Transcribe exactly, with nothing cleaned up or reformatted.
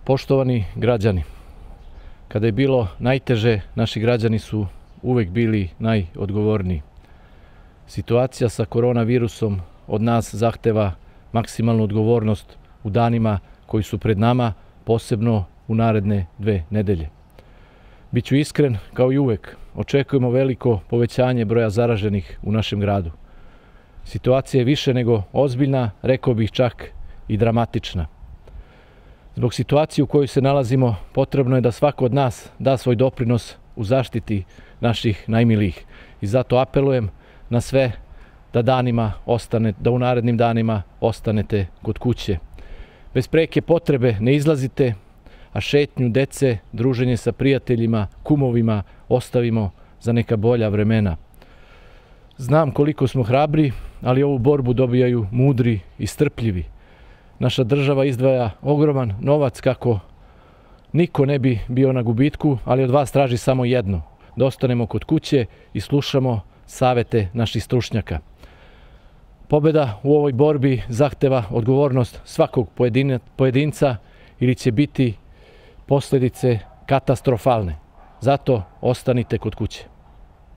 Poštovani građani, kada je bilo najteže, naši građani su uvek bili najodgovorniji. Situacija sa koronavirusom od nas zahteva maksimalnu odgovornost u danima koji su pred nama, posebno u naredne dve nedelje. Biću iskren, kao i uvek, očekujemo veliko povećanje broja zaraženih u našem gradu. Situacija je više nego ozbiljna, rekao bih čak i dramatična. Zbog situacije u kojoj se nalazimo, potrebno je da svako od nas da svoj doprinos u zaštiti naših najmilijih. I zato apelujem na sve da danima ostane, da u narednim danima ostanete kod kuće. Bez preke potrebe ne izlazite, a šetnju dece, druženje sa prijateljima, kumovima ostavimo za neka bolja vremena. Znam koliko smo hrabri, ali ovu borbu dobijaju mudri i strpljivi. Naša država izdvaja ogroman novac kako niko ne bi bio na gubitku, ali od vas traži samo jedno, da ostanemo kod kuće i slušamo savete naših stručnjaka. Pobeda u ovoj borbi zahteva odgovornost svakog pojedinca ili će biti posljedice katastrofalne. Zato ostanite kod kuće.